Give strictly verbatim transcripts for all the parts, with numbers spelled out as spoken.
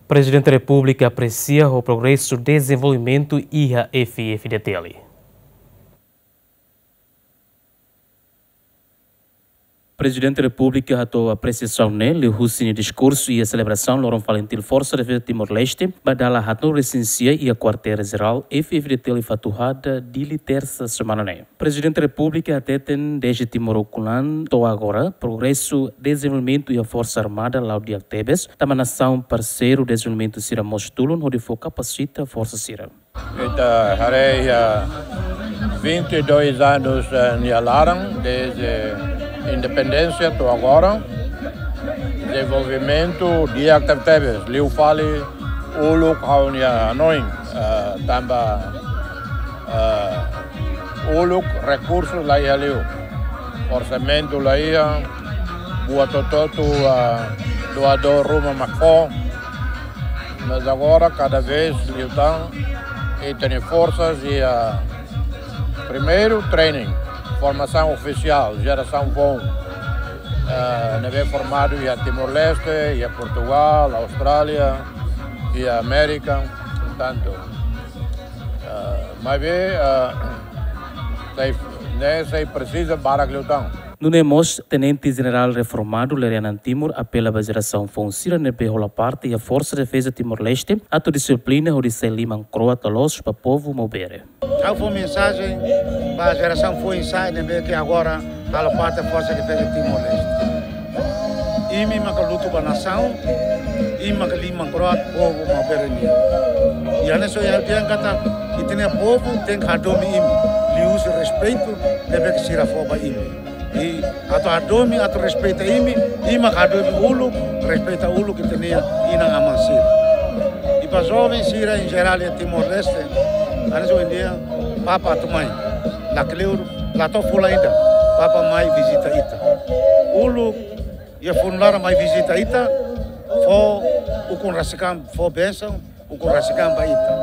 Prezidente Repúblika apresia ho progresu dezenvolvimentu iha F-FDTL. Prezidente Repúblika hato'o apresiasaun ne'e liuhusi nia diskursu iha selebrasaun loron FALINTIL Forsa Defeza Timor-Leste ba dala haatnulu-resin-sia iha Kuartél Jerál F-FDTL Fatuhada, Dili, Tersa semana ne'e. Prezidente Repúblika hateten dezde Timor ukun-an to'o agora, progresu dezenvolvimentu iha Forsa Armada la'o di'ak tebes, tanba nasaun parseiru dezenvolvimentu sira mós tulun hodi fó kapasita forsa sira. Ita haree iha vinte e dois anos, eh, nia laran, desde independénsia to'o agora. Dezenvolvimentu di'ak tebetebes, liu fali uluk ha'u-nia hanoin, eh, tanba, eh, uluk rekursu la iha liu, orsamentu la iha, buat hotu-hotu, eh, doadór ruma mak fó. Mas agora, kada vez liután, ita-nia forsa iha, primeiru, training, formasaun ofisiál, jerasaun foun. Eh, ne'ebé formadu iha Timor-Leste, iha Portugal, Austrália, iha Amérika, portantu, eh, maibé, eh, sei, ne'e sei presiza barak liután. Nune'e mós, Tenente Jenerál reformadu Lere Anan Timur apela ba jerasaun foun sira ne'ebé hola parte iha Forsa Defeza Timor-Leste atu dixiplina hodi sai liman-kro'at loloos ba povu Maubere. Ha'u fó mensajen ba jerasaun foun sira ne'ebé ke agora halo parte Forsa Defeza Timor-Leste. Imi maka lutu ba nasaun, imi maka liman-kro'at povu Maubere nian. I hanesan ohin ha'u dehan katak, ita-nia povu tenke hadomi imi, liuhusi respeitu ne'ebé ke sira fó ba imi. I atu hadomi, atu respeita imi, imi maka hadomi uluk, respeita uluk ita-nia inan-aman sira. I ba joven sira em geral iha Timor-Leste, hanesan ohin dehan, Papa atu mai, lakleur, la to'o fulan ida, Papa mai vizita ita. Uluk, iha funu laran mai vizita ita, fó ukun rasik an, fó bensaun, ukun rasik an ba ita.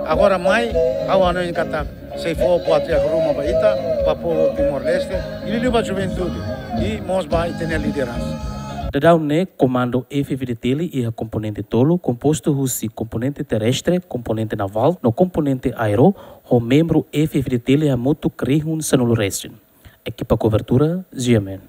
Agora mai, ha'u hanoin katak, sei fó buat di'ak ruma ba ita, ba povu Timor-Leste, i liuliu ba juventude, i mós ba ita-nia lideransa. Daudaun ne'e, Komandu F-FDTL iha komponente tolu, kompostu husi komponente terrestre, komponente navál, no komponente aéreu, ho membru F-FDTL hamutuk rihun sanulu-resin. Ekipa kobertura, G M N.